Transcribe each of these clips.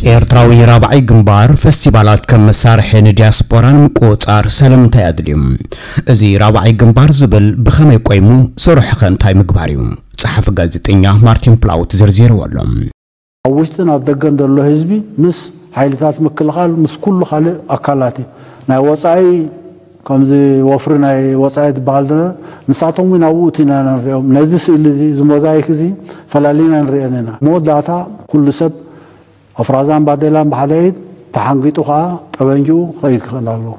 ኤርትራዊ ራብዓይ ግንባር፣ ፈስቲቫላት ከም መሳርሒ ንዲያስፖራ ንምቁጽጻር ስለምንታይ ኣድልዩ? እዚ ራብዓይ ግንባር ዝብል ብኸመይ ቆይሙ? ስርሑ ኸ እንታይ ምግባር እዩ? ጸሓፊ ጋዜጠኛ ማርቲን ፕላውት ዘርዚርዎ ኣሎ። ኣብ ውሽጥን ኣብ ደገን ዘሎ ህዝቢ ምስ ሓይልታት ምክልኻል፣ ምስ ኩሉ ካልእ ኣካላት እዩ። ናይ ወጻኢ ከምዚ ወፍሪ ናይ ወጻኢ ዝበሃል ዘሎ፣ ንሳቶም እውን ኣብኡ እቲ ኢና ንሪኦም። ነዚ ስእሊ እዚ፣ እዚ ሞዛይክ እዚ ፈላሊና ንሪአን ኢና። መወዳእታ ኩሉ ሰብ ኣፍራዛን ባዴላን ብሓደ ኢድ ተሓንጊጡ ከኣ ጠበንጅኡ ክኸይድ ክኽእል ኣለዎ።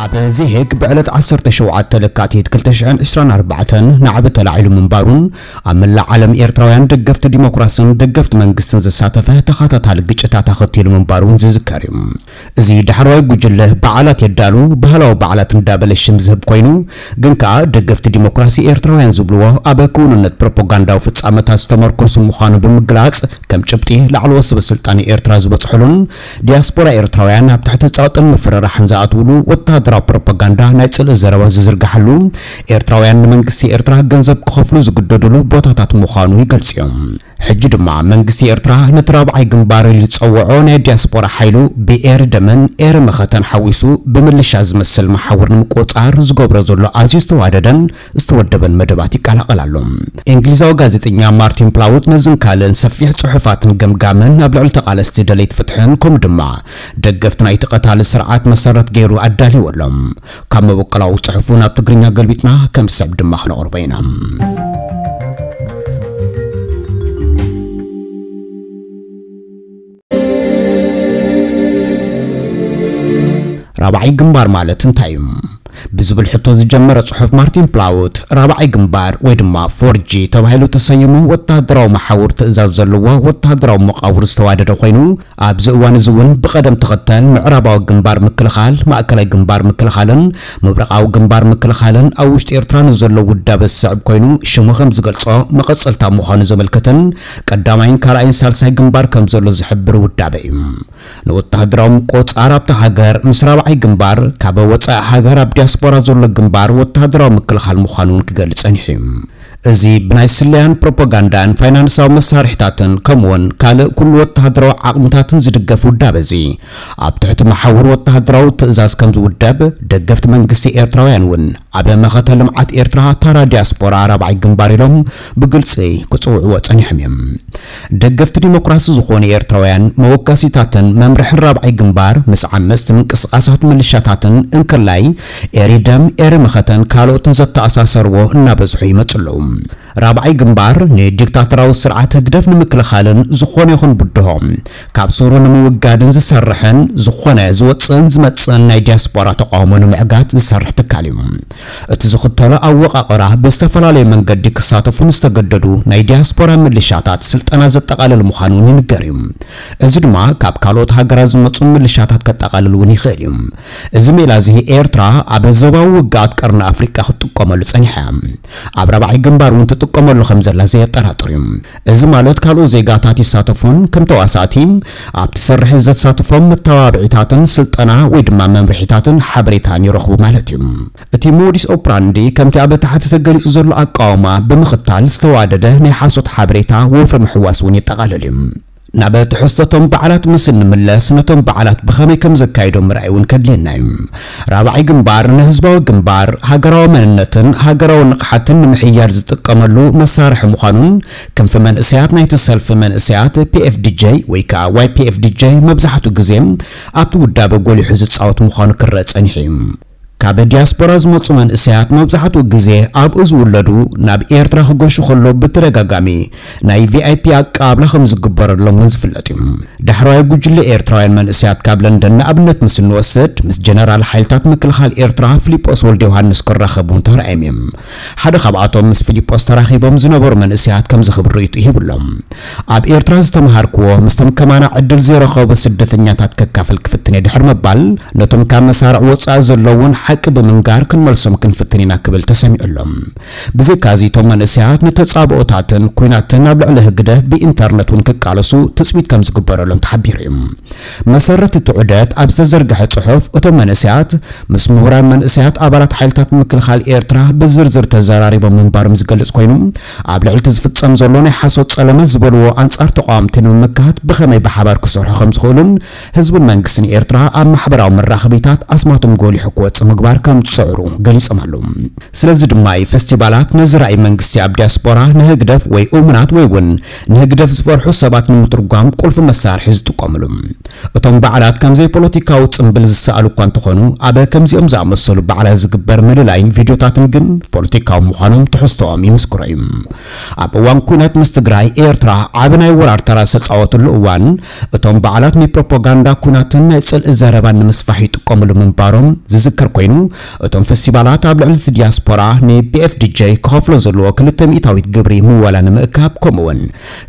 ኣብ ዜሄግ ብዕለት ዓሰርተ ሸውዓተ ለካቲት ክልተ ሽሕን ዕስራን ኣርባዕተን ናዕቢ ተላዒሉ ምንባሩን ኣብ መላእ ዓለም ኤርትራውያን ደገፍቲ ዲሞክራስን ደገፍቲ መንግስትን ዘሳተፈ ተኸታታሊ ግጭታት ኣኸቲሉ ምንባሩን ዝዝከር እዩ። እዚ ዳሕረዋይ ጉጅለ በዓላት የዳሉ፣ ባህላዊ በዓላት እንዳበለ ሽም ዝህብ ኮይኑ፣ ግን ከኣ ደገፍቲ ዲሞክራሲ ኤርትራውያን ዝብልዎ ኣብ ክውንነት ፕሮፓጋንዳዊ ፍጻመታት ዝተመርኮሱ ምዃኑ ብምግላጽ፣ ከም ጭብጢ ላዕለዎት ሰበ ስልጣን ኤርትራ ዝበጽሑሉን ዲያስፖራ ኤርትራውያን ኣብ ትሕቲ ጸቕጥን ምፍርራሕን ዝኣትውሉ ወተሃደራዊ ፕሮፓጋንዳ ናይ ጽልኢ ዘረባ ዝዝርግሓሉ፣ ኤርትራውያን ንመንግስቲ ኤርትራ ገንዘብ ክኸፍሉ ዝግደዱሉ ቦታታት ምዃኑ ይገልጹ እዮም። ሕጂ ድማ መንግስቲ ኤርትራ ነቲ ራብዓይ ግንባር ኢሉ ዝጸውዖ ናይ ዲያስፖራ ሓይሉ ብኤሪ ደመን ኤሪ መኸተን ሓዊሱ ብምልሻ ዝመስል መሓውር ንምቁጽጻር ዝገብሮ ዘሎ ኣዝዩ ዝተዋደደን ዝተወደበን መደባት ይቀላቐል ኣሎ። እንግሊዛዊ ጋዜጠኛ ማርቲን ፕላውት ነዝን ካልእን ሰፊሕ ጽሑፋትን ገምጋምን ኣብ ልዕሊ ተቓለስቲ ደለይቲ ፍትሕን ከምኡ ድማ ደገፍቲ ናይቲ ቀታሊ ስርዓት መሰረት ገይሩ ኣዳልይዎ ኣሎ። ካብ መበቆላዊ ጽሑፉ ናብ ትግርኛ ገልቢጥና ከም ዝስዕብ ድማ ክነቕርቦ ኢና። ራብዓይ ግንባር ማለት እንታይ እዩ? ብዝብል ሕቶ ዝጀመረ ጽሑፍ ማርቲን ፕላውት፣ ራብዓይ ግንባር ወይ ድማ ፎር ጂ ተባሂሉ ተሰይሙ፣ ወተሃደራዊ መሓውር ትእዛዝ ዘለዎ ወተሃደራዊ መቓብር ዝተዋደደ ኮይኑ፣ ኣብዚ እዋን እዚ እውን ብቐደም ተኸተል ምዕራባዊ ግንባር ምክልኻል፣ ማእከላይ ግንባር ምክልኻልን ምብራቓዊ ግንባር ምክልኻልን ኣብ ውሽጢ ኤርትራ ንዘሎ ውዳበ ዝስዕብ ኮይኑ፣ ሽሙ ከም ዝገልጾ መቐጸልታ ምዃኑ ዘመልክትን ቀዳማይን ካልኣይን ሳልሳይ ግንባር ከም ዘሎ ዝሕብር ውዳበ እዩ። ንወተሃደራዊ ምቁጽጻር ኣብታ ሃገር ምስ ራብዓይ ግንባር፣ ካብ ወጻኢ ሃገር ኣብ ዲያስፖራ ዘሎ ግንባር ወተሃደራዊ ምክልኻል ምዃኑ እውን ክገልጽ ጸኒሑ እዩ። እዚ ብናይ ስለያን ፕሮፓጋንዳን ፋይናንሳዊ መሳርሒታትን ከምኡውን ካልእ ኩሉ ወተሃደራዊ ዓቕምታትን ዝድገፍ ውዳበ እዚ፣ ኣብ ትሕቲ መሓውር ወተሃደራዊ ትእዛዝ ከም ዝውደብ ደገፍቲ መንግስቲ ኤርትራውያን እውን ኣብ መኸተ ልምዓት ኤርትራ ታራ ዲያስፖራ ራብዓይ ግንባር ኢሎም ብግልጺ ክጽውዕዎ ጸኒሖም እዮም። ደገፍቲ ዲሞክራሲ ዝኾኑ ኤርትራውያን መወከሲታትን መምርሕን ራብዓይ ግንባር ምስ ዓመጽቲ ምንቅስቓሳት ምልሻታትን እንክላይ ኤሪ ደም፣ ኤሪ መኸተን ካልኦትን ዘተኣሳሰርዎ እናበዝሑ ይመጹ ኣለዉ። ራብዓይ ግንባር ንዲክታቶራዊ ስርዓት ህግደፍ ንምክልኻልን ዝኾነ ይኹን ብድሆ ካብ ሱሩ ንምውጋድን ዝሰርሕን ዝኾነ ዝወጽእን ዝመጽእን ናይ ዲያስፖራ ተቃውሞ ንምዕጋት ዝሰርሕ ትካል እዩ። እቲ ዝኽተሎ ኣወቃቕራ ብዝተፈላለየ መንገዲ ክሳተፉ ንዝተገደዱ ናይ ዲያስፖራ ምልሻታት ስልጠና ዘጠቓልል ምዃኑ እውን ይንገር እዩ። እዚ ድማ ካብ ካልኦት ሃገራት ዝመጹ ምልሻታት ከጠቓልል እውን ይኽእል እዩ። እዚ ሜላ እዚ ኤርትራ ኣብ ዞባዊ ውግኣት ቀርኒ ኣፍሪቃ ክትጥቀመሉ ጸኒሓ እያ። ኣብ ራብዓይ ግንባር እውን ትጥቀመሉ ከም ዘላ ዘየጠራጥር እዩ። እዚ ማለት ካልኦት ዜጋታት ይሳተፉን ከም ተዋሳእቲ ኣብቲ ስርሒት ዘተሳትፎም መተባብዒታትን ስልጠና ወይ ድማ መምርሒታትን ሓበሬታን ይረኽቡ ማለት እዩ። እቲ ሞዲስ ኦፕራንዲ ከምቲ ኣብ ታሕቲ ተገሊጹ ዘሎ ኣቃውማ ብምኽታል ዝተዋደደ ናይ ሓሶት ሓበሬታ ወፍሪ ምሕዋስ እውን የጠቓልል እዩ። ናብ ትሕዝቶቶም በዓላት ምስ እንምለስ ነቶም በዓላት ብኸመይ ከም ዘካይዶም ምርኣይ እውን ከድልየና እዩ። ራብዓይ ግንባር ንህዝባዊ ግንባር ሃገራዊ መንነትን ሃገራዊ ንቕሓትን ንምሕያል ዝጥቀመሉ መሳርሒ ምዃኑን ክንፊ መንእሰያት ናይቲ ሰልፊ መንእሰያት ፒ ኤፍ ዲ ጄ ወይ ከዓ ዋይ ፒ ኤፍ ዲ ጄ መብዛሕትኡ ግዜ ኣብቲ ውዳበ ጎሊሑ ዝጻወት ምዃኑ ክረአ ጸኒሑ እዩ። ካብ ዲያስፖራ ዝመጹ መንእሰያት መብዛሕትኡ ግዜ ኣብኡ ዝውለዱ ናብ ኤርትራ ክገሹ ከሎ ብተደጋጋሚ ናይ ቪ ኣይ ፒ ኣቀባብላ ከም ዝግበረሎም እውን ዝፍለጥ እዩ። ዳሕረዋይ ጉጅለ ኤርትራውያን መንእሰያት ካብ ለንደን ንኣብነት ምስ እንወስድ፣ ምስ ጀነራል ሓይልታት ምክልኻል ኤርትራ ፊሊጶስ ወልደ ዮሃንስ ክራኸቡ ተራእዮም እዮም። ሓደ ካብኣቶም ምስ ፊሊጶስ ተራኺቦም ዝነበሩ መንእሰያት ከምዚ ክብል ርእይቶ ይህብሎም። ኣብ ኤርትራ ዝተምሃርክዎ ምስቶም ከማና ዕድል ዘይረኸቡ ስደተኛታት ከካፍል ክፍትን እየ ድሕሪ ምባል፣ ነቶም ካብ መሳርዕ ወጻኢ ዘለውን ሓቂ ብምንጋር ክንመልሶም ክንፍትን ኢና ክብል ተሰሚዑ ኣሎ። ብዘይካዚ እቶም መንእሰያት ንተጻብኦታትን ኲናትን ኣብ ልዕሊ ህግደፍ ብኢንተርነት እውን ክቃለሱ ትጽቢት ከም ዝግበረሎም ተሓቢሩ እዩ። መሰረት እቲ ዑደት ኣብ ዝተዘርግሐ ጽሑፍ እቶም መንእሰያት ምስ ምሁራን መንእሰያት ኣባላት ሓይልታት ምክልኻል ኤርትራ ብዝርዝር ተዘራሪቦም ምንባሮም ዝገልጽ ኮይኑ፣ ኣብ ልዕሊ እቲ ዝፍጸም ዘሎ ናይ ሓሶት ጸለመ ዝበልዎ ኣንጻር ተቓወምቲ ንምምካት ብኸመይ ብሓባር ክሰርሑ ከም ዝኽእሉን ህዝብን መንግስትን ኤርትራ ኣብ ማሕበራዊ መራኸቢታት ኣስማቶም ጎሊሑ ክወጽእ ምግባር ከም ዝጽዕሩ ገሊጾም ኣለዉ። ስለዚ ድማ እዩ ፈስቲቫላት ነዚ ራእይ መንግስቲ ኣብ ዲያስፖራ ንህግደፍ ወይ እሙናት ወይ እውን ንህግደፍ ዝፈርሑ ሰባት ንምትርጓም ቁልፊ መሳርሒ ዝጥቀምሉ። እቶም በዓላት ከም ዘይፖለቲካዊ ጽምብል ዝሰኣሉ እኳ እንተኾኑ፣ ኣብ ከምዚኦም ዝኣመሰሉ በዓላት ዝግበር ምልላይን ቪድዮታትን ግን ፖለቲካዊ ምዃኖም ትሕዝቶኦም ይምስክሮ እዩ። ኣብ እዋን ኲናት ምስ ትግራይ፣ ኤርትራ ዓቢ ናይ ወራር ተራ ዝተጻወትሉ እዋን፣ እቶም በዓላት ንፕሮፓጋንዳ ኲናትን ናይ ጽልኢ ዘረባን ንምስፋሕ ይጥቀምሉ ምንባሮም ዝዝከር ኮይኑ፣ እቶም ፈስቲቫላት ኣብ ልዕሊ እቲ ዲያስፖራ ን-ፒ ኤፍ ዲ ጀይ ክኸፍሎ ዘለዎ ክልተ ሚእታዊት ግብሪ ምወላ ንምእካብ፣ ከምኡውን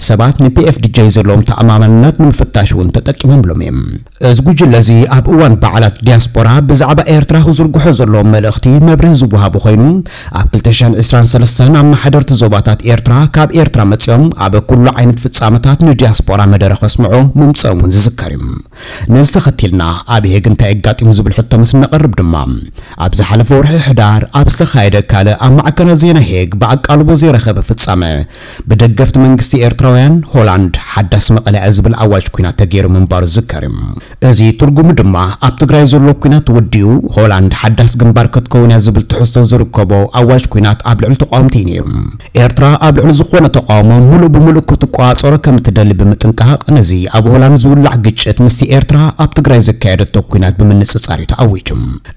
ሰባት ን-ፒ ኤፍ ዲ ጀይ ዘለዎም ተኣማማንነት ንምፍታሽ እውን ተጠቂሞምሎም እዮም። እዚ ጉጅለ እዚ ኣብ እዋን በዓላት ዲያስፖራ ብዛዕባ ኤርትራ ክዝርግሖ ዘለዎ መልእኽቲ መብርሂ ዝወሃቡ ኮይኑ፣ ኣብ ክልተ ሽሕን ዕስራን ሰለስተን ኣመሓደርቲ ዞባታት ኤርትራ ካብ ኤርትራ መጺኦም ኣብ ኩሉ ዓይነት ፍጻመታት ንዲያስፖራ መደረ ከስምዑ ምምጽኦም እውን ዝዝከር እዩ። ነዚ ተኸቲልና ኣብ ሄግ እንታይ ኣጋጢሙ ዝብል ሕቶ ምስ እነቐርብ ድማ፣ ኣብ ዝሓለፈ ወርሒ ሕዳር ኣብ ዝተኻየደ ካልእ ኣብ ማዕከናት ዜና ሄግ ብኣቃልቦ ዘይረኸበ ፍጻመ፣ ብደገፍቲ መንግስቲ ኤርትራውያን ሆላንድ ሓዳስ መቐለ እያ ዝብል ኣዋጅ ኲናት ተገይሩ ምንባሩ ዝዝከር እዩ። እዚ ትርጉሙ ድማ ኣብ ትግራይ ዘሎ ኲናት ተወዲኡ ሆላንድ ሓዳስ ግንባር ክትከውን እያ ዝብል ትሕዝቶ ዝርከቦ ኣዋጅ ኲናት ኣብ ልዕሊ ተቃወምቲ እዩ ነይሩ። ኤርትራ ኣብ ልዕሊ ዝኾነ ተቃውሞ ሙሉእ ብሙሉእ ክትቆጻጸሮ ከም እትደሊ ብምጥንቃቕ፣ ነዚ ኣብ ሆላንድ ዝውላዕ ግጭት ምስቲ ኤርትራ ኣብ ትግራይ ዘካየደቶ ኲናት ብምንጽጻር እዩ ተኣዊጁ።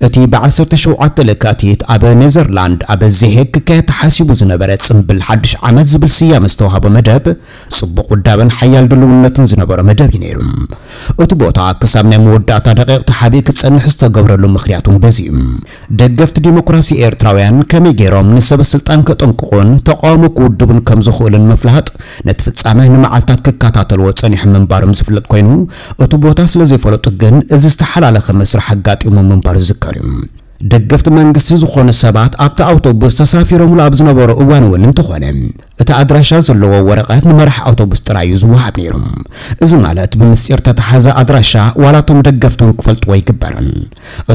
እቲ ብዓሰርተ ሸውዓተ ለካቲት ኣብ ኔዘርላንድ ኣብ ዘሄግ ክካየድ ተሓሲቡ ዝነበረ ጽምብል ሓድሽ ዓመት ዝብል ስያመ ዝተዋህቦ መደብ፣ ጽቡቕ ውዳበን ሓያል ድልውነትን ዝነበሮ መደብ እዩ ነይሩ። እቲ ቦታ ክሳብ ናይ መወዳእታ ደቂቕ ተሓቢኡ ክጸንሕ ዝተገብረሉ ምኽንያት እውን በዚ እዩ። ደገፍቲ ዲሞክራሲ ኤርትራውያን ከመይ ገይሮም ንሰበ ስልጣን ከጠንቅቑን ተቃውሞ ክውድቡን ከም ዝኽእሉን ምፍላጥ፣ ነቲ ፍጻመ ንመዓልታት ክከታተልዎ ጸኒሖም ምንባሮም ዝፍለጥ ኮይኑ፣ እቲ ቦታ ስለ ዘይፈለጡ ግን እዚ ዝተሓላለኸ መስርሕ ኣጋጢሙ ምንባሩ ዝዝከር እዩ። ደገፍቲ መንግስቲ ዝኾኑ ሰባት ኣብቲ ኣውቶቡስ ተሳፊሮምሉ ኣብ ዝነበሩ እዋን እውን እንተኾነ፣ እቲ ኣድራሻ ዘለዎ ወረቐት ንመራሒ ኣውቶቡስ ጥራይ እዩ ዝወሃብ ነይሩ። እዚ ማለት ብምስጢር ተተሓዘ ኣድራሻ ዋላ እቶም ደገፍቲ እውን ክፈልጥዎ ኣይግበርን።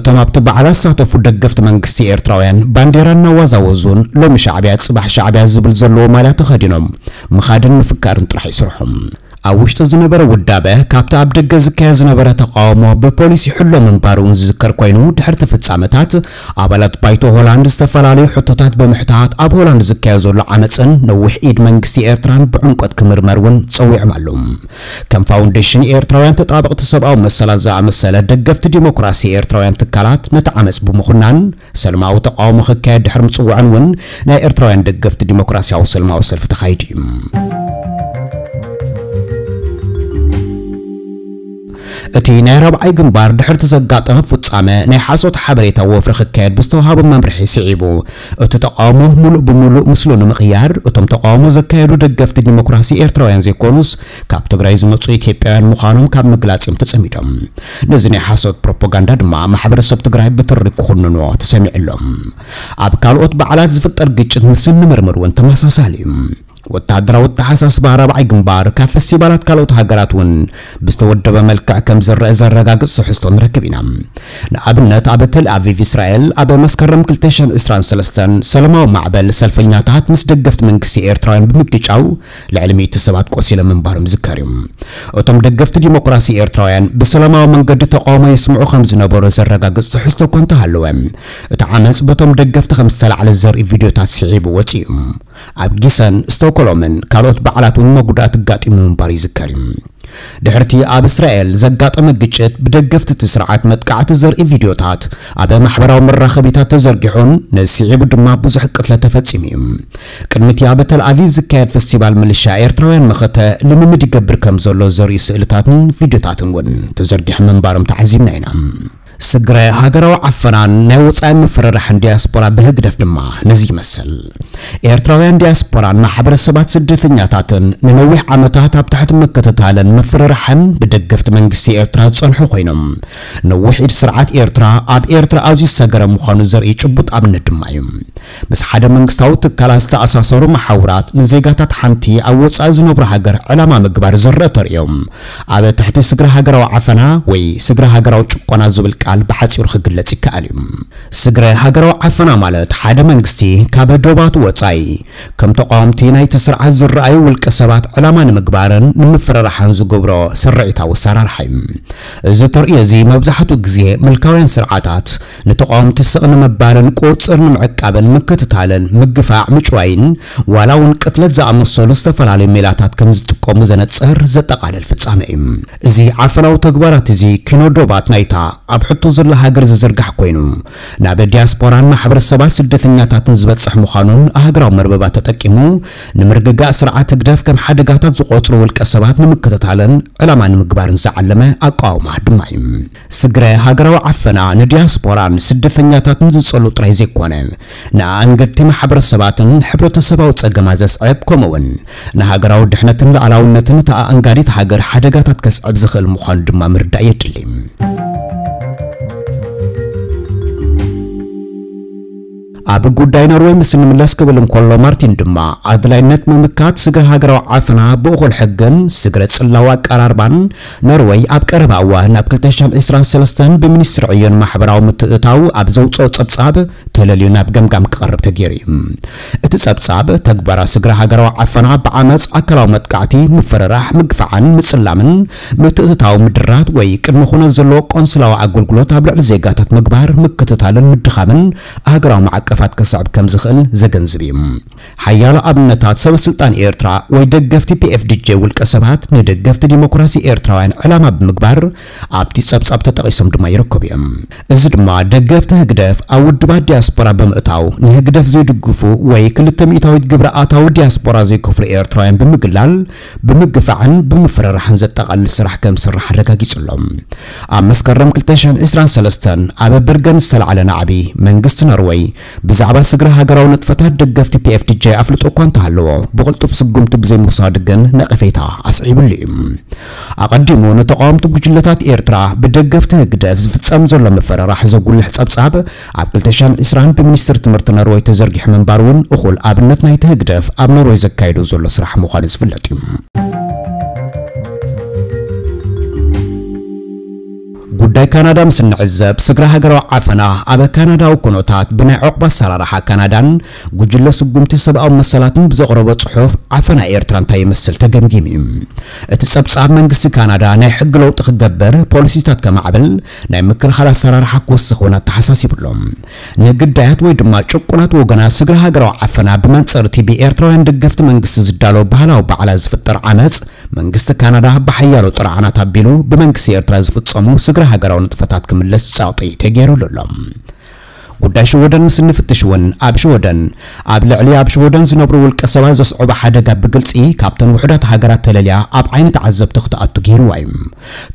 እቶም ኣብቲ በዓል ዝሳተፉ ደገፍቲ መንግስቲ ኤርትራውያን ባንዴራ እናዋዛወዙን ሎሚ ሻዕብያ ጽባሕ ሻዕብያ ዝብል ዘለዎ ማልያ ተኸዲኖም ምኻድን ምፍካርን ጥራሕ እዩ ስርሖም። ኣብ ውሽጢ ዝነበረ ውዳበ፣ ካብቲ ኣብ ደገ ዝካየድ ዝነበረ ተቃውሞ ብፖሊስ ይሕሎ ምንባሩ እውን ዝዝከር ኮይኑ፣ ድሕሪ እቲ ፍጻመታት፣ ኣባላት ባይቶ ሆላንድ ዝተፈላለዩ ሕቶታት ብምሕታት፣ ኣብ ሆላንድ ዝካየድ ዘሎ ዓመጽን ነዊሕ ኢድ መንግስቲ ኤርትራን ብዕምቆት ክምርመር እውን ጸዊዖም ኣለዉ። ከም ፋውንዴሽን ኤርትራውያን ተጣበቕቲ ሰብኣዊ መሰላት ዝኣመሰለ ደገፍቲ ዲሞክራሲ ኤርትራውያን ትካላት ነቲ ዓመጽ ብምኹናን፣ ሰልማዊ ተቃውሞ ክካየድ ድሕሪ ምጽዋዕን እውን ናይ ኤርትራውያን ደገፍቲ ዲሞክራሲያዊ ሰልማዊ ሰልፊ ተኻይዱ እዩ። እቲ ናይ ራብዓይ ግንባር ድሕርቲ ዘጋጠመ ፍጻመ ናይ ሓሶት ሓበሬታ ወፍሪ ክካየድ ብዝተዋሃቦ መምርሒ ስዒቡ፣ እቲ ተቃውሞ ሙሉእ ብሙሉእ ምስሉ ንምቕያር፣ እቶም ተቃውሞ ዘካየዱ ደገፍቲ ዲሞክራሲ ኤርትራውያን ዘይኮኑስ፣ ካብ ትግራይ ዝመጹ ኢትዮጵያውያን ምዃኖም ካብ ምግላጽ እዮም ተጸሚዶም። ነዚ ናይ ሓሶት ፕሮፓጋንዳ ድማ ማሕበረሰብ ትግራይ ብትሪ ክኹንንዎ ተሰሚዑ ኣሎ። ኣብ ካልኦት በዓላት ዝፍጠር ግጭት ምስ እንምርምር እውን ተመሳሳሊ እዩ። ወተሃደራዊ ኣተሓሳስባ ራብዓይ ግንባር ካብ ፈስቲቫላት ካልኦት ሃገራት እውን ብዝተወደበ መልክዕ ከም ዝረአ ዘረጋግጽ ትሕዝቶ ንረክብ ኢና። ንኣብነት፣ ኣብ ተል ኣቪቭ እስራኤል ኣብ መስከረም ክልተ ሽሕን ዕስራን ሰለስተን ሰላማዊ ማዕበል ሰልፈኛታት ምስ ደገፍቲ መንግስቲ ኤርትራውያን ብምግጫው ልዕሊ ሚእቲ ሰባት ቆሲሎም ምንባሮም ዝዝከር እዩ። እቶም ደገፍቲ ዲሞክራሲ ኤርትራውያን ብሰላማዊ መንገዲ ተቃውሞ የስምዑ ከም ዝነበሩ ዘረጋግጽ ትሕዝቶ እኳ እንተሃለወ፣ እቲ ዓመጽ በቶም ደገፍቲ ከም ዝተላዕለ ዘርኢ ቪድዮታት ስዒቡ ወጺኡ እዩ። ኣብ ጊሰን ስቶክሆልምን ካልኦት በዓላት እውን መጉዳእቲ ኣጋጢሙ ምንባሩ ይዝከር እዩ። ድሕርቲ ኣብ እስራኤል ዘጋጠመ ግጭት፣ ብደገፍቲ እቲ ስርዓት መጥቃዕቲ ዘርኢ ቪድዮታት ኣብ ማሕበራዊ መራኸቢታት ተዘርጊሑን ነዚ ስዒቡ ድማ ብዙሕ ቅትለት ተፈጺሙ እዩ። ቅድሚ እቲ ኣብ ተል ኣቪቭ ዝካየድ ፈስቲቫል፣ ምልሻ ኤርትራውያን መኸተ ልምምድ ይገብር ከም ዘሎ ዘርእዩ ስእልታትን ቪድዮታትን እውን ተዘርጊሑ ምንባሮም ተዓዚብና ኢና። ስግረ ሃገራዊ ዓፈናን ናይ ወጻኢ ምፍርራሕን ዲያስፖራ ብህግደፍ ድማ ነዚ ይመስል። ኤርትራውያን ዲያስፖራን ማሕበረሰባት ስደተኛታትን ንነዊሕ ዓመታት ኣብ ትሕቲ ምክትታልን ምፍርራሕን ብደገፍቲ መንግስቲ ኤርትራ ዝጸንሑ ኮይኖም፣ ነዊሕ ኢድ ስርዓት ኤርትራ ኣብ ኤርትራ ኣዝዩ ዝሰገረ ምዃኑ ዘርኢ ጭቡጥ ኣብነት ድማ እዩ። ምስ ሓደ መንግስታዊ ትካላት ዝተኣሳሰሩ መሓውራት ንዜጋታት ሓንቲ ኣብ ወጻኢ ዝነብሩ ሃገር ዕላማ ምግባር ዝረአ ተርእዮም፣ ኣብ ትሕቲ ስግረ ሃገራዊ ዓፈና ወይ ስግረ ሃገራዊ ጭቆና ዝብል ቃል ብሓጺሩ ክግለጽ ይከኣል እዩ። ስግረ ሃገራዊ ዓፈና ማለት ሓደ መንግስቲ ካብ ዶባቱ ወጻኢ ከም ተቃወምቲ ናይቲ ስርዓት ዝረኣዩ ውልቀ ሰባት ዕላማ ንምግባርን ንምፍርራሕን ዝገብሮ ስርዒታዊ ኣሰራርሓ እዩ። እዚ ተርእዮ እዚ መብዛሕትኡ ግዜ ምልካውያን ስርዓታት ንተቃወምቲ ስቕ ንምባልን ቁጽር ንምዕቃብን ምክትታልን ምግፋዕ ምጭዋይን ዋላ እውን ቅትለት ዝኣመሰሉ ዝተፈላለዩ ሜላታት ከም ዝጥቀሙ ዘነጽር ዘጠቓልል ፍጻመ እዩ። እዚ ዓፈናዊ ተግባራት እዚ ኪኖ ዶባት ናይታ ኣብ ሕቶ ዘላ ሃገር ዝዝርጋሕ ኮይኑ፣ ናብ ዲያስፖራን ማሕበረሰባት ስደተኛታትን ዝበጽሕ ምዃኑን ኣህግራዊ መርበባት ተጠቂሙ ንምርግጋእ ስርዓት ህግደፍ ከም ሓደጋታት ዝቖጽሩ ውልቀ ሰባት ንምክትታልን ዕላማ ንምግባርን ዝዓለመ ኣቃውማ ድማ እዩ። ስግረ ሃገራዊ ዓፈና ንዲያስፖራን ስደተኛታትን ዝጸሉ ጥራይ ዘይኮነ፣ ንኣንገድቲ ማሕበረሰባትን ሕብረተሰባዊ ጸገማት ዘስዕብ፣ ከምኡ'ውን ንሃገራዊ ድሕነትን ሉዓላውነትን እታ ኣኣንጋዲት ሃገር ሓደጋታት ከስዕብ ዝኽእል ምዃኑ ድማ ምርዳእ የድሊ። ኣብ ጉዳይ ኖርወይ ምስ እንምለስ ክብል እንከሎ፣ ማርቲን ድማ ኣድላይነት ምምካት ስግረ ሃገራዊ ዓፈና ብእኹል ሕግን ስግረ ጽላዊ ኣቀራርባን ኖርወይ ኣብ ቀረባ እዋን ኣብ ክልተ ሽሕን ዕስራን ሰለስተን ብሚኒስትሪ ዕዮን ማሕበራዊ ምትእትታው ኣብ ዘውጽኦ ጸብጻብ ተለልዩ ናብ ገምጋም ክቐርብ ተገይሩ እዩ። እቲ ጸብጻብ፣ ተግባራት ስግረ ሃገራዊ ዓፈና ብዓመጽ፣ ኣካላዊ መጥቃዕቲ፣ ምፍርራሕ፣ ምግፋዕን ምጽላምን፣ ምትእትታው ምድራት ወይ ቅድመ ኩነት ዘለዎ ቆንስላዊ ኣገልግሎት ኣብ ልዕሊ ዜጋታት ምግባር፣ ምክትታልን ምድኻምን ሃገራዊ ማዕቀፋት ከስዕብ ከም ዝኽእል ዘገንዝብ እዩ። ሓያሎ ኣብነታት ሰበ ስልጣን ኤርትራ ወይ ደገፍቲ ፒ ኤፍ ዲ ጄ ውልቀ ሰባት ንደገፍቲ ዲሞክራሲ ኤርትራውያን ዕላማ ብምግባር ኣብቲ ጸብጻብ ተጠቒሶም ድማ ይርከቡ እዮም። እዚ ድማ ደገፍቲ ህግደፍ ኣብ ውድባት ዲያስፖራ ብምእታው ንህግደፍ ዘይድግፉ ወይ ክልተ ሚእታዊት ግብሪ ኣታዊ ዲያስፖራ ዘይከፍሉ ኤርትራውያን ብምግላል፣ ብምግፋዕን ብምፍርራሕን ዘጠቓልል ስራሕ ከም ዝስራሕ ኣረጋጊጹ ኣሎ። ኣብ መስከረም ክልተ ሽሕን ዕስራን ሰለስተን ኣብ በርገን ዝተላዕለ ናዕቢ መንግስቲ ኖርወይ ብዛዕባ ስግረ ሃገራዊ ንጥፈታት ደገፍቲ ፒ ኤፍ ዲ ጄ ኣፍልጦ እኳ እንተሃለዎ፣ ብቕልጡፍ ስጉምቲ ብዘይምውሳዱ ግን ነቐፌታ ኣስዒቡሉ እዩ። ኣቐዲሙ ንተቓወምቲ ጉጅለታት ኤርትራ ብደገፍቲ ህግደፍ ዝፍጸም ዘሎ ምፍርራሕ ዘጉልሕ ጸብጻብ ኣብ ክልተ ሽሕን ዕስራን ብሚኒስትሪ ትምህርቲ ኖርወይ ተዘርጊሑ ምንባሩ እውን እኹል ኣብነት ናይቲ ህግደፍ ኣብ ኖርወይ ዘካይዶ ዘሎ ስራሕ ምዃኑ ዝፍለጥ እዩ። ጉዳይ ካናዳ ምስ እንዕዘብ፣ ስግረ ሃገራዊ ዓፈና ኣብ ካናዳዊ ኩነታት ብናይ ዑቕባ ኣሰራርሓ ካናዳን ጉጅለ ስጉምቲ ሰብኣዊ መሰላትን ብዘቕረቦ ጽሑፍ፣ ዓፈና ኤርትራ እንታይ ይመስል ተገምጊሙ እዩ። እቲ ጸብጻብ፣ መንግስቲ ካናዳ ናይ ሕጊ ለውጢ ክገብር፣ ፖሊሲታት ከማዕብል፣ ናይ ምክልኻል ኣሰራርሓ ክውስኽ እውን ኣተሓሳሲቡ ኣሎ። ንግዳያት ወይ ድማ ጭቁናት ወገናት ስግረ ሃገራዊ ዓፈና ብመንጽር እቲ ብኤርትራውያን ደገፍቲ መንግስቲ ዝዳሎ ባህላዊ ባዕላ ዝፍጠር ዓመጽ፣ መንግስቲ ካናዳ ብሓያሎ ጥርዓናት ኣቢሉ ብመንግስቲ ኤርትራ ዝፍጸሙ ስግረ ሃገራዊ ንጥፈታት ክምለስ ጸቕጢ ተገይሩሉ ኣሎ። ጉዳይ ሽወደን ምስ እንፍትሽ እውን፣ ኣብ ሽወደን ኣብ ልዕሊ ኣብ ሽወደን ዝነብሩ ውልቀ ሰባት ዘስዕቦ ሓደጋ ብግልጺ ካብተን ውሑዳት ሃገራት ተለልያ ኣብ ዓይኒ ተዓዘብቲ ክትኣቱ ገይርዋ እዩ።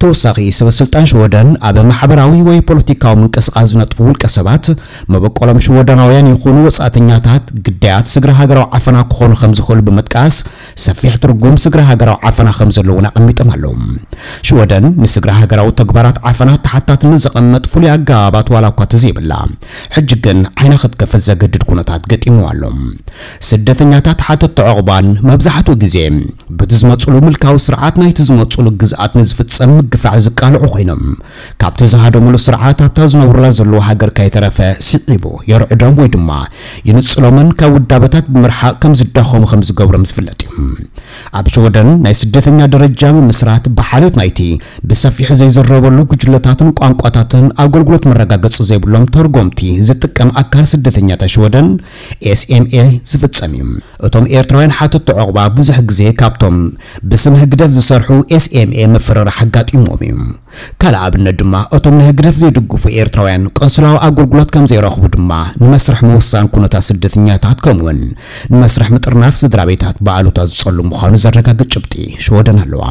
ተወሳኺ፣ ሰበ ስልጣን ሽወደን ኣብ ማሕበራዊ ወይ ፖለቲካዊ ምንቅስቓስ ዝነጥፉ ውልቀ ሰባት፣ መበቆሎም ሽወደናውያን ይኹኑ ወጻእተኛታት፣ ግዳያት ስግረ ሃገራዊ ዓፈና ክኾኑ ከም ዝኽእሉ ብምጥቃስ፣ ሰፊሕ ትርጉም ስግረ ሃገራዊ ዓፈና ከም ዘለዎ እውን ኣቐሚጦም ኣለዉ። ሽወደን ንስግረ ሃገራዊ ተግባራት ዓፈና ተሓታትነት ዘቐምጥ ፍሉይ ኣገባባት ዋላ እኳ ተዘይብላ፣ ሕጂ ግን ዓይና ክትከፍት ዘገድድ ኩነታት ገጢምዋ ኣሎ። ስደተኛታት ሓተትቲ ዑቕባን መብዛሕትኡ ግዜ በቲ ዝመጽሉ ምልካዊ ስርዓት ናይቲ ዝመጽሉ ግዝኣት ንዝፍጸም ምግፋዕ ዝቃልዑ ኮይኖም፣ ካብቲ ዝሃደሙሉ ስርዓት ኣብታ ዝነብሩላ ዘለዉ ሃገር ከይተረፈ ስዒቡ የርዕዶም ወይ ድማ ይንጽሎምን ካብ ውዳበታት ብምርሓቕ ከም ዝዳኸሙ ከም ዝገብሮም ዝፍለጥ እዩ። ኣብ ሽወደን ናይ ስደተኛ ደረጃ ምምስራት ብሓልዮት ናይቲ ብሰፊሑ ዘይዝረበሉ ጉጅለታትን ቋንቋታትን ኣገልግሎት መረጋገጺ ዘይብሎም ተርጎምቲ ዝጥቀም ኣካል ስደተኛታት ሽወደን፣ ኤስ ኤም ኤ፣ ዝፍጸም እዩ። እቶም ኤርትራውያን ሓተትቲ ዑቕባ ብዙሕ ግዜ ካብቶም ብስም ህግደፍ ዝሰርሑ ኤስ ኤም ኤ ምፍርራሕ ኣጋጢምዎም እዩ። ካልእ ኣብነት ድማ፣ እቶም ንህግደፍ ዘይድግፉ ኤርትራውያን ቆንስላዊ ኣገልግሎት ከም ዘይረኽቡ ድማ ንመስርሕ ምውሳን ኩነታት ስደተኛታት ከምኡውን ንመስርሕ ምጥርናፍ ስድራ ቤታት ብኣሉታ ዝጸሉ ምዃኑ ዘረጋግጽ ጭብጢ ሽወደን ኣለዋ።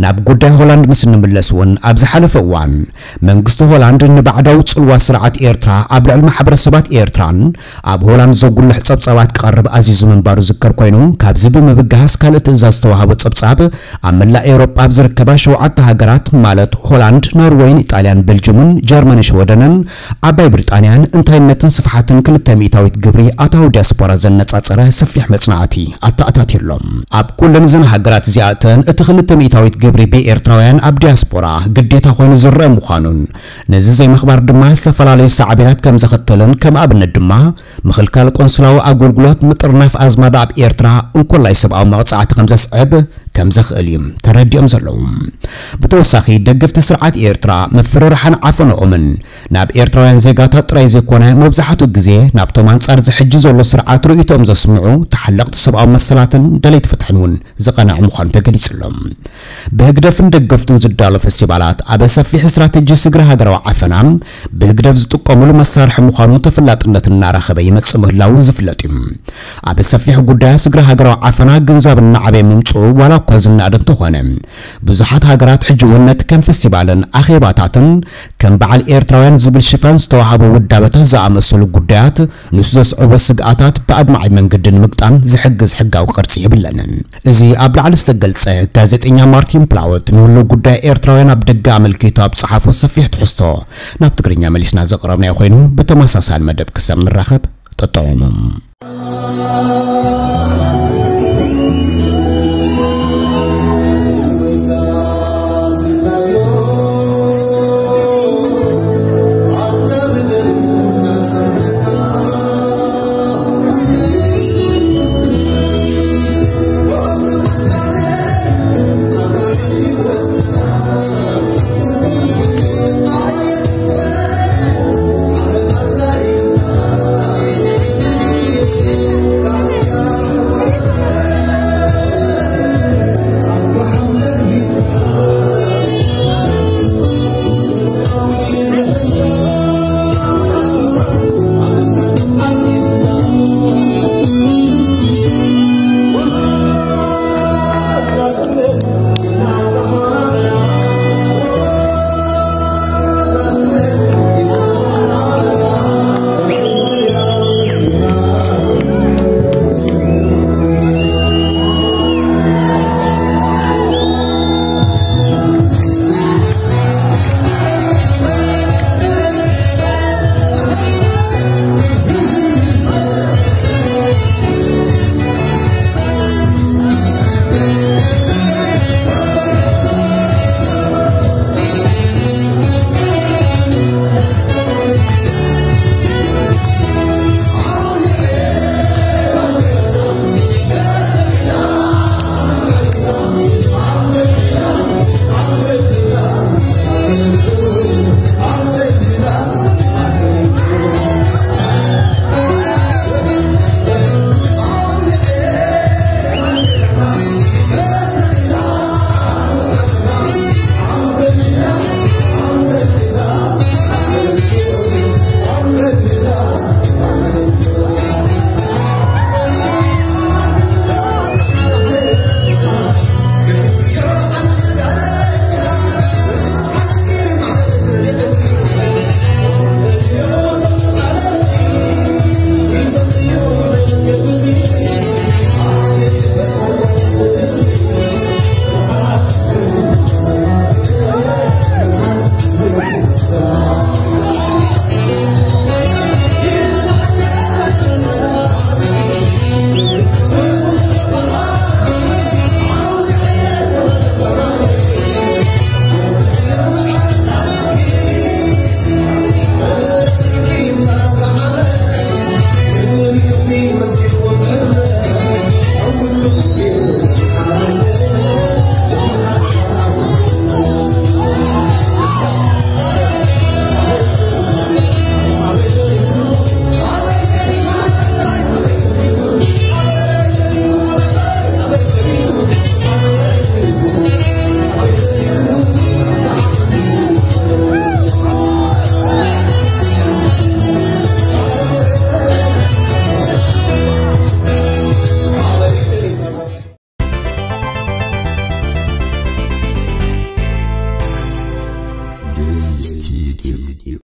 ናብ ጉዳይ ሆላንድ ምስ እንምለስ እውን፣ ኣብ ዝሓለፈ እዋን መንግስቲ ሆላንድ ንባዕዳዊ ጽልዋ ስርዓት ኤርትራ ኣብ ልዕሊ ማሕበረሰባት ኤርትራን ኣብ ሆላንድ ዘጉልሕ ጸብጻባት ክቐርብ ኣዚዙ ምንባሩ ዝከር ኮይኑ፣ ካብዚ ብምብጋስ ካልእ ትእዛዝ ዝተዋህቦ ጸብጻብ ኣብ መላእ ኤውሮጳ ኣብ ዝርከባ ሸውዓተ ሃገራት ማለት ሆላንድ፣ ኖርወይን፣ ኢጣልያን፣ ቤልጅምን፣ ጀርመንን ሽወደንን ዓባይ ብሪጣንያን እንታይነትን ስፍሓትን ክልተ ሚእታዊት ግብሪ ኣታዊ ዲያስፖራ ዘነጻጸረ ሰፊሕ መጽናዕቲ ኣተኣታትዩሎም። ኣብ ኩለን እዘን ሃገራት እዚኣተን እቲ ክልተ ሚእታዊት ግብሪ ብኤርትራውያን ኣብ ዲያስፖራ ግዴታ ኮይኑ ዝረአ ምዃኑን፣ ነዚ ዘይምኽባር ድማ ዝተፈላለዩ ሳዕቤናት ከም ዘኸተለን፣ ከም ኣብነት ድማ ምኽልካል ቆንስላዊ ኣገልግሎት፣ ምጥርናፍ ኣዝማድ ኣብ ኤርትራ፣ እንኮላይ ሰብኣዊ መቕጻዕቲ ከም ዘስዕብ ከም ዘኽእል እዩ ተረዲኦም ዘለዉ። ብተወሳኺ ደገፍቲ ስርዓት ኤርትራ ምፍርራሕን ዓፈንኦምን ናብ ኤርትራውያን ዜጋታት ጥራይ ዘይኮነ፣ መብዛሕትኡ ግዜ ናብቶም ኣንጻር እዚ ሕጂ ዘሎ ስርዓት ርእይቶኦም ዘስምዑ ተሓለቕቲ ሰብኣዊ መሰላትን ደለይቲ ፍትሕን እውን ዝቐንዐ ምዃኑ ተገሊጹ ኣሎ። ብህግደፍን ደገፍቱን ዝዳሎ ፈስቲቫላት ኣብ ሰፊሕ ስትራተጂ ስግረ ሃገራዊ ዓፈና ብህግደፍ ዝጥቀሙሉ መሳርሒ ምዃኑ ተፈላጥነት እናረኸበ ይመጽእ ምህላዉ ዝፍለጥ እዩ። ኣብ ሰፊሕ ጉዳያት ስግረ ሃገራዊ ዓፈና ግንዛብ እናዓበየ ምምጽኡ ዋላ እኳ ዝናደ እንተኾነ፣ ብዙሓት ሃገራት ሕጂ እውን ነቲ ከም ፈስቲቫልን ኣኼባታትን ከም በዓል ኤርትራውያን ዝብል ሽፋን ዝተዋህቦ ውዳበታት ዝኣመሰሉ ጉዳያት ንሱ ዘስዕቦ ስግኣታት ብኣድማዒ መንገዲ ንምግጣም ዝሕግዝ ሕጋዊ ቅርጺ የብለንን። እዚ ኣብ ላዕሊ ዝተገልጸ ጋዜጠኛ ማርቲን ፕላወት ንህልው ጉዳይ ኤርትራውያን ኣብ ደገ ኣመልኪቱ ኣብ ጸሓፎ ሰፊሕ ትሕዝቶ ናብ ትግርኛ መሊስና ዘቕረብናዮ ኮይኑ፣ ብተመሳሳሊ መደብ ክሳብ ንራኸብ ጠጠዑሙ።